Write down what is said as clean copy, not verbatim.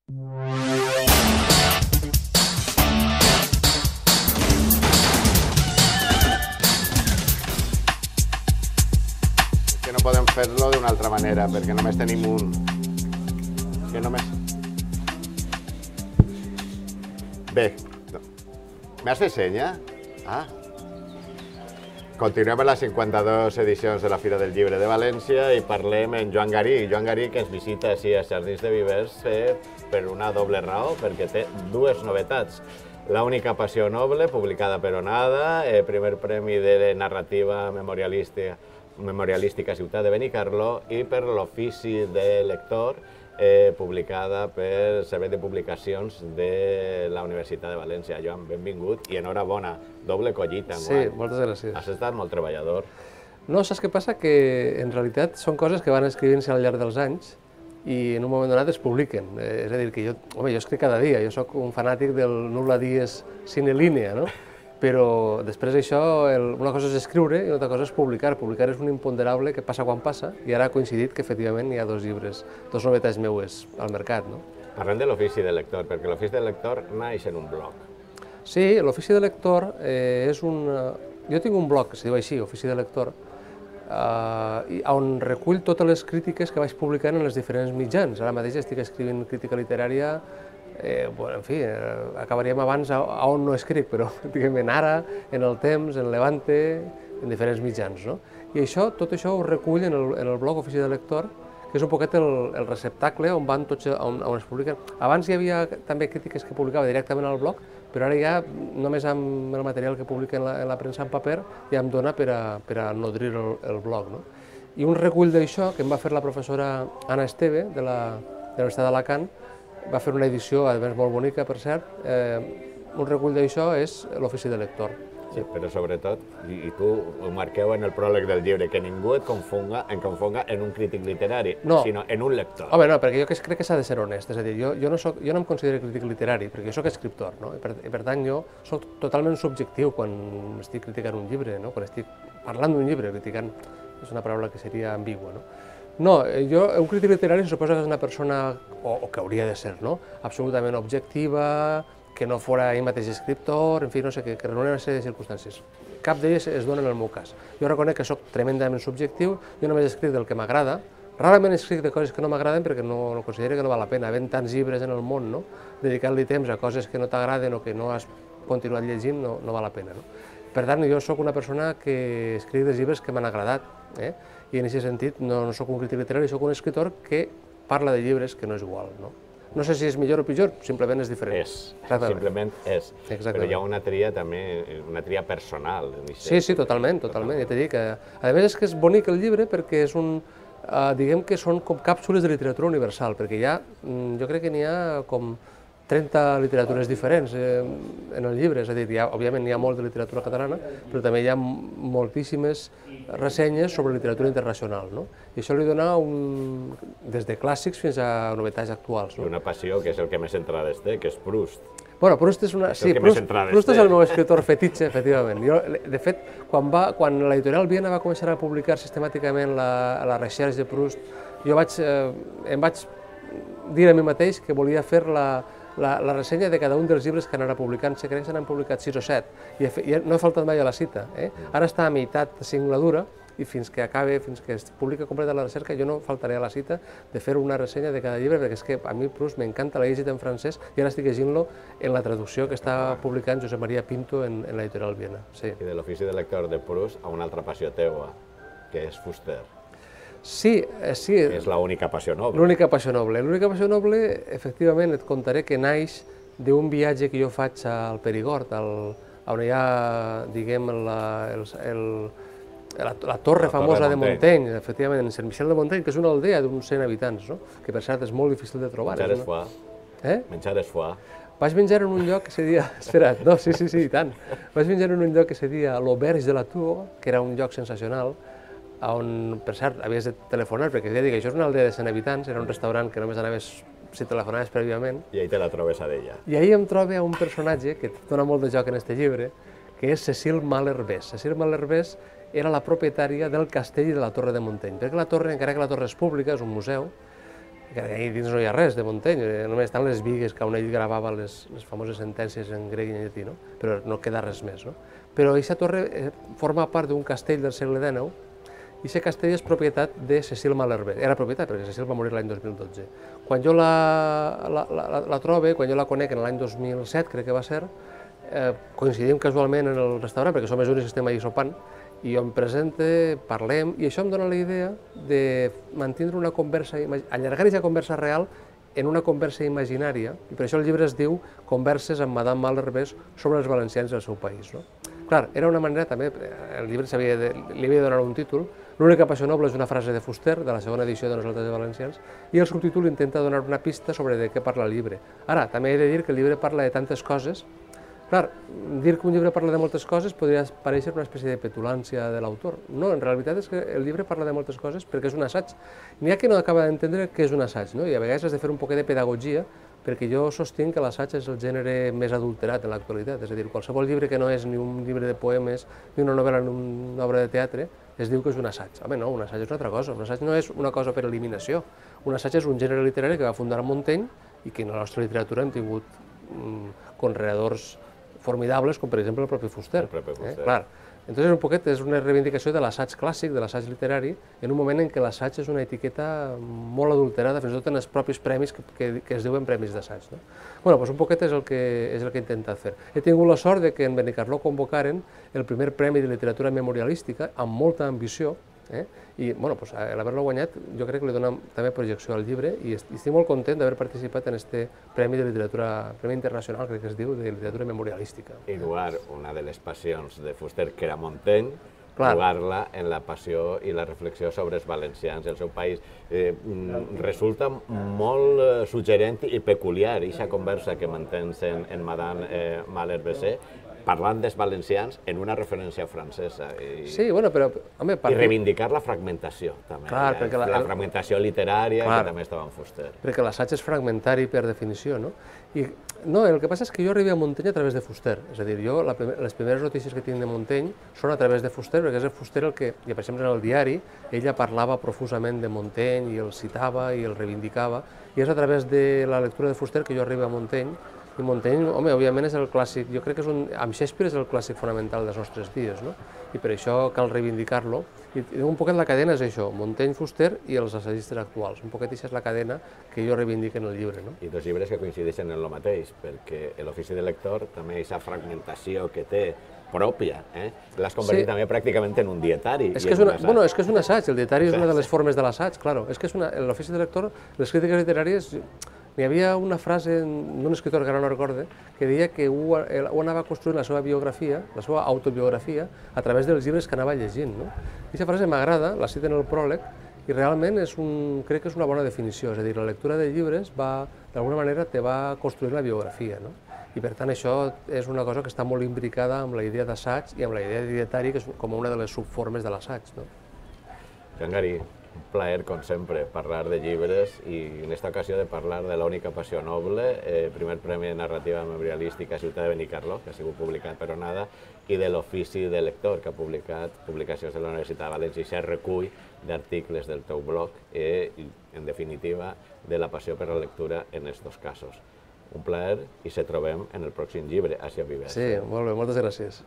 Que no podem fer-lo d'una altra manera, perquè només tenim un. Que només... Bé, m'has fet senya? Ah. Continuem a les 52 edicions de la Fira del Llibre de València i parlem amb Joan Garí. Joan Garí, que ens visita així als Jardins de Vivers per una doble raó, perquè té dues novetats. La única passió noble, publicada per Onada, primer premi de narrativa memorialística Ciutat de Benicarló, i per l'ofici de lector, publicada per Servei de Publicacions de la Universitat de València. Joan, benvingut i enhorabona. Doble collita. Sí, moltes gràcies. Has estat molt treballador. No, saps què passa? Que en realitat són coses que van escrivint-se al llarg dels anys i en un moment donat es publiquen. És a dir, que jo escric cada dia, jo sóc un fanàtic del nulla dies sine linea, no? Però després d'això, una cosa és escriure i una altra cosa és publicar. Publicar és un imponderable que passa quan passa i ara ha coincidit que efectivament hi ha dos llibres, dos novetats meues al mercat, no? Parlem de l'ofici de lector, perquè l'ofici de lector naix en un blog. Sí, l'ofici de lector és un... Jo tinc un blog que es diu així, Ofici de Lector, on recull totes les crítiques que vaig publicant en els diferents mitjans. Ara mateix estic escrivint crítica literària, en fi, acabaríem abans a on no escric, però diguem en Ara, en El Temps, en Levante, en diferents mitjans, no? I això, tot això ho recull en el blog Ofici de Lector, que és un poquet el receptacle on van tots, on es publiquen. Abans hi havia també crítiques que publicava directament al blog, però ara ja només amb el material que publica en la premsa en paper ja em dona per a nodrir el blog, no? I un recull d'això que em va fer la professora Anna Esteve, de la Universitat d'Alacant, va fer una edició, a més molt bonica, per cert, un recull d'això és l'Ofici de Lector. Sí, però sobretot, i tu ho marqueu en el pròleg del llibre, que ningú et confonga en un crític literari, sinó en un lector. Home, no, perquè jo crec que s'ha de ser honest, és a dir, jo no em considero crític literari, perquè jo soc escriptor, no? I per tant jo soc totalment subjectiu quan estic criticant un llibre, no? Quan estic parlant d'un llibre, criticant és una paraula que seria ambigua, no? No, un crític literari se suposa que és una persona, o que hauria de ser, no? Absolutament objectiva, que no fora ell mateix escriptor, en fi, no sé, que reunien una sèrie de circumstàncies. Cap d'elles es dona en el meu cas. Jo reconec que soc tremendament subjectiu, jo només escric del que m'agrada, rarament escric de coses que no m'agraden perquè no considero que no val la pena, havent tants llibres en el món, no? Dedicar-li temps a coses que no t'agraden o que no has continuat llegint no val la pena, no? Per tant, jo sóc una persona que escric dels llibres que m'han agradat, i en aquest sentit no sóc un crític literari, sóc un escriptor que parla de llibres que no és igual, no? No sé si és millor o pitjor, simplement és diferent. Simplement és. Però hi ha una tria també, una tria personal. Sí, totalment. Ja t'he dit que, a més, és que és bonic el llibre perquè és un, diguem que són com càpsules de literatura universal, perquè jo crec que n'hi ha com 30 literatures diferents en el llibre, és a dir, òbviament n'hi ha molt de literatura catalana, però també hi ha moltíssimes ressenyes sobre literatura internacional, no? I això li dona des de clàssics fins a novetats actuals. I una passió, que és el que més entrades té, que és Proust. Bueno, Proust és el meu escriptor fetitxe, efectivament. De fet, quan l'editorial Viena va començar a publicar sistemàticament la recerca de Proust, em vaig dir a mi mateix que volia fer la ressenya de cada un dels llibres que anara publicant. Crec que se n'han publicat 6 o 7, i no he faltat mai a la cita. Ara està a meitat de singladura, i fins que es publica completa la recerca, jo no faltaré a la cita de fer una ressenya de cada llibre, perquè és que a mi Proust m'encanta, l'he llegit en francès, i ara estic llegint-lo en la traducció que està publicant Josep Maria Pinto en l'editorial Viena. I de l'ofici de lector de Proust a una altra passió teua, que és Fuster. Sí. És l'única passió noble. L'única passió noble. L'única passió noble, efectivament, et contaré que naix d'un viatge que jo faig al Perigord, on hi ha, diguem, la torre famosa de Montaigne, efectivament, en Sant Michel de Montaigne, que és una aldea d'uns 100 habitants, no? Que per cert és molt difícil de trobar. Menjar és foie. Menjar és foie. Vaig menjar en un lloc que se deia... Espera't, no, sí, i tant. Vaig menjar en un lloc que se deia l'Auberge de la Tour, que era un lloc sensacional, on, per cert, havies de telefonar, perquè ja dic, això és una aldea de 100 habitants, era un restaurant que només anaves si telefonaves prèviament. I ahí te la trobes a d'ella. I ahí em trobo un personatge que dona molt de joc en este llibre, que és Cécile Malherbe. Cécile Malherbe era la propietària del castell de la Torre de Montaigne, perquè la torre, encara que la torre és pública, és un museu, que ahí dins no hi ha res de Montaigne, només estan les bigues que on ell gravava les famoses sentències en grec i en llatí, no? Però no queda res més. No? Però aquesta torre forma part d'un castell del segle XIX i aquest castell és propietat de Cecil Malherbe. Era propietat perquè Cecil va morir l'any 2012. Quan jo la trobe, quan jo la conec en l'any 2007, crec que va ser, coincidim casualment en el restaurant, perquè som els únics que estem allà sopant, i jo em presente, parlem, i això em dona la idea de mantindre una conversa, allargar aquesta conversa real en una conversa imaginària, i per això el llibre es diu Converses amb Madame Malherbe sobre els valencians del seu país. No? Clar, era una manera també, el llibre li havia de donar un títol, l'única passió noble és una frase de Fuster, de la segona edició de Nosaltres de Valencians, i el subtítol intenta donar una pista sobre de què parla el llibre. Ara, també he de dir que el llibre parla de tantes coses. Clar, dir que un llibre parla de moltes coses podria parèixer una espècie de petulància de l'autor. No, en realitat és que el llibre parla de moltes coses perquè és un assaig. N'hi ha que no acaba d'entendre què és un assaig, no? I a vegades has de fer un poquet de pedagogia perquè jo sostinc que l'assaig és el gènere més adulterat en l'actualitat. És a dir, qualsevol llibre que no és ni un llibre de poemes ni una novel·la ni una obra de teatre es diu que és un assaig. Home, no, un assaig és una altra cosa. Un assaig no és una cosa per eliminació. Un assaig és un gènere literari que va fundar Montaigne i que en la nostra literatura hem tingut conreadors formidables, com per exemple el propi Fuster. Clar. Entonces, un poquet és una reivindicació de l'assaig clàssic, de l'assaig literari, en un moment en què l'assaig és una etiqueta molt adulterada, fins i tot en els propis premis que es diuen premis d'assaig. No? Bueno, doncs un poquet és el que he intentat fer. He tingut la sort de que en Benicarló convocaren el primer premi de literatura memorialística amb molta ambició, i bueno, l'haver-lo guanyat jo crec que li dona també projecció al llibre i estic molt content d'haver participat en aquest premi de literatura, premi internacional crec que es diu, de literatura memorialística. I jugar una de les passions de Fuster, que era Montaigne, jugar-la en la passió i la reflexió sobre els valencians, el seu país. Resulta molt suggerent i peculiar aquesta conversa que mantens en Madame Malherbe parlant dels valencians en una referència francesa. Sí, bueno, però... I reivindicar la fragmentació, també. La fragmentació literària, que també estava en Fuster. Perquè l'assaig és fragmentari per definició, no? I no, el que passa és que jo arribo a Montaigne a través de Fuster. És a dir, jo les primeres notícies que tinc de Montaigne són a través de Fuster, perquè és el Fuster el que, per exemple, en el diari, ella parlava profusament de Montaigne i el citava i el reivindicava, i és a través de la lectura de Fuster que jo arribo a Montaigne. I Montaigne, home, òbviament és el clàssic, jo crec que amb Shakespeare és el clàssic fonamental dels nostres dies, no? I per això cal reivindicar-lo. I un poquet la cadena és això, Montaigne, Fuster i els assaigistes actuals. Un poquet això és la cadena que jo reivindico en el llibre, no? I dos llibres que coincideixen en el mateix, perquè l'ofici de lector també aquesta fragmentació que té pròpia, l'has convertit també pràcticament en un dietari. És que és un assaig, el dietari és una de les formes de l'assaig, clar. És que l'ofici de lector, les crítiques literàries... N'hi havia una frase d'un escriptor que ara no recorde, que deia que ho anava construint la seva biografia, la seva autobiografia, a través dels llibres que anava llegint. Aquesta frase m'agrada, la cita en el pròleg, i realment crec que és una bona definició. És a dir, la lectura de llibres d'alguna manera te va construir la biografia. I per tant això és una cosa que està molt imbricada amb la idea d'assaig i amb la idea de dietari, que és com una de les subformes de l'assaig. Joan Garí, un plaer, com sempre, parlar de llibres i en aquesta ocasió de parlar de l'única passió noble, primer premi de narrativa memorialística a Ciutat de Benicarló, que ha sigut publicat per Onada, i de l'ofici de lector, que ha publicat publicacions de la Universitat de València i aquest recull d'articles del teu blog i, en definitiva, de la passió per la lectura en aquests dos casos. Un plaer i se trobem en el pròxim llibre, Àsia Vivers. Sí, molt bé, moltes gràcies.